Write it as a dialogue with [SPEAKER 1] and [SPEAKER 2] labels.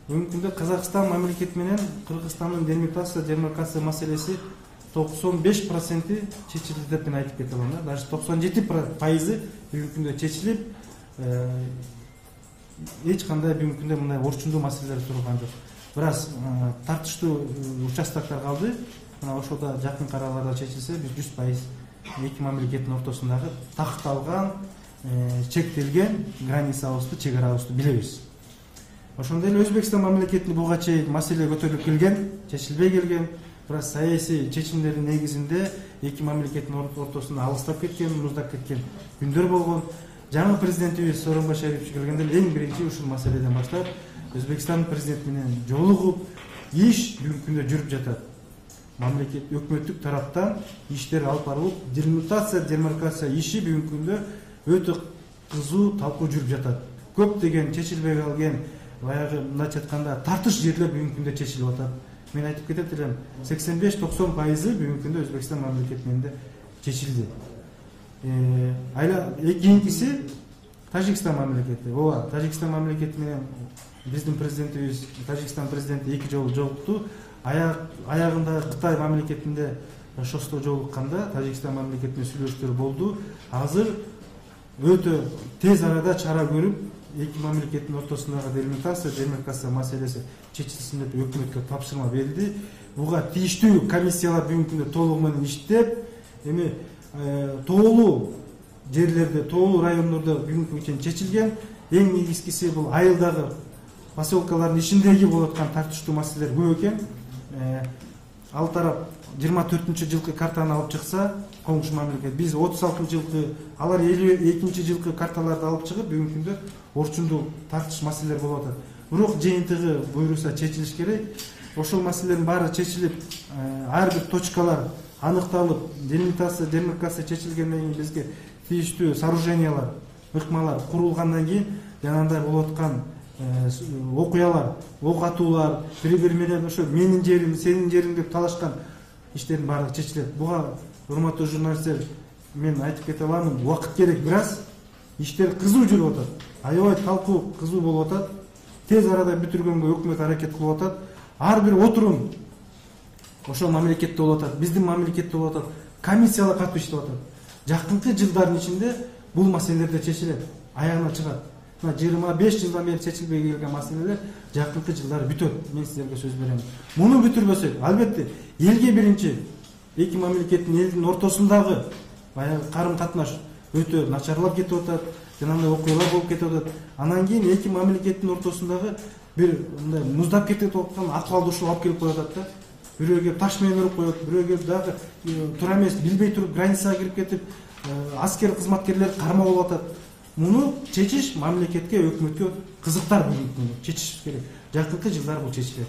[SPEAKER 1] Бүгүнкү күндө Казакстан мамлекети менен Кыргызстандын демаркация маселеси 95% чечилди деп мен айтып кете алам. Даже 97% бүгүнкү күндө чечилип, эч кандай бүгүнкү күндө мындай орчундуу маселелер турган жок. Бирок тартыштуу участоктор калды. Мына ошолда жакын араларда чечилсе, биз 100% эки мамлекеттин ортосундагы такталган, чектелген границабызды, чек арабызды билебиз. Ошондой эле Өзбекстан мамлекетинде буга чейин маселе көтөрүлүп келген, чечилбей келген. Бирок саясий чечимдердин негизинде эки мамлекеттин ортосунда алыстап кеткен, муздап кеткен күндөр болгон. Жаңы президентибиз Сооронбай Шарипович келгенде эң биринчи ушул маселеден баштап Өзбекстан президенти менен жолугуп, иш бүгүнкү күндө жүрүп жатат. Мамлекет өкмөттүк тараптан иштер алып барылып, делимитация, демаркация иши бүгүнкү күндө өтө кызуу талкуу жүрүп жатат. Көптөгөн чечилбей калган, баягы мындайча айтканда тартыш жерлер бүгүнкү күндө чечилип атат. Мен айтып кетет элем, 85-90% бүгүнкү күндө Өзбекстан мамлекети менен чечилди. Кийинкиси Тажикстан мамлекети. Ооба, Тажикстан мамлекети менен биздин президентибиз, Тажикстан президенти эки жолу жолукту. Аягында Кытай мамлекетинде Шосто жолукканда Тажикстан мамлекетинин сүйлөшүүлөр болду. Азыр өтө тез арада чара көрүп, эки мамлекеттин ортосундагы делимитация, демаркация маселеси чечилсин деп өкмөткө тапшырма берилди. Буга тийиштүү комиссиялар бүгүнкү күндө толугу менен иштеп, эми тоолуу жерлерде, тоолуу райондордо бүгүнкү чейин чечилген. Эң негизгиси бул айылдагы поселкалардын ичиндеги болуп аткан тартыштуу маселелер көп экен. Ал тарап 24-жылкы картаны алып чыкса, коңшу мамлекет, биз 36-жылкы, алар 52-жылкы карталарды алып чыгып, бүгүнкү күндө орчундуу тартыш маселелер болуп атат. Бирок жыйынтыгы буйруса чечилиш керек. Ошол маселелердин баары чечилип, ар бир точкалар аныкталып, делимитация, демаркация чечилгенден кийин бизге тийиштүү сооружениялар, ыкмалар курулгандан кийин жанагындай болуп аткан окуялар, ок атуулар, бири-бири менен ошо менин жерим, сенин жериң деп талашкан иштердин баары чечилет. Буга урматтуу журналисттер, мен айтып кете алам, убакыт керек, бир аз иштер кызуу жүрүп атат. Аябай талкуу кызуу болуп атат. Тез арада бүтүргөнгө өкмөт аракет кылып атат. Ар бир отурум ошол мамлекетте болуп атат, биздин мамлекетте болуп атат. Комиссиялар катуу иштеп атат. Жакынкы жылдардын ичинде бул маселелер да чечилет, аягына чыгат. 25 жылдан бери чечилбей келген маселелер жакынкы жылдары бүтөт. Мен сиздерге сөз берем. Муну бүтүрбөсөк, албетте, элге биринчи эки мамлекеттин элдин ортосундагы баягы карым-катнаш өтө начарлап кетип атат, жанагындай окуялар болуп кетип атат. Анан кийин эки мамлекеттин ортосундагы бир мындай муздап кетип аткан акыбалды ушул алып келип коюп атат да. Бирөө келип таш менен уруп коет, бирөө келип дагы туура эмес билбей туруп границага кирип кетип, аскер кызматкерлер кармоо болуп атат. Муну чечиш мамлекетке, өкмөткө кызыктар бүгүнкү күндө чечиш керек. Жакынкы жылдар бул чечилет.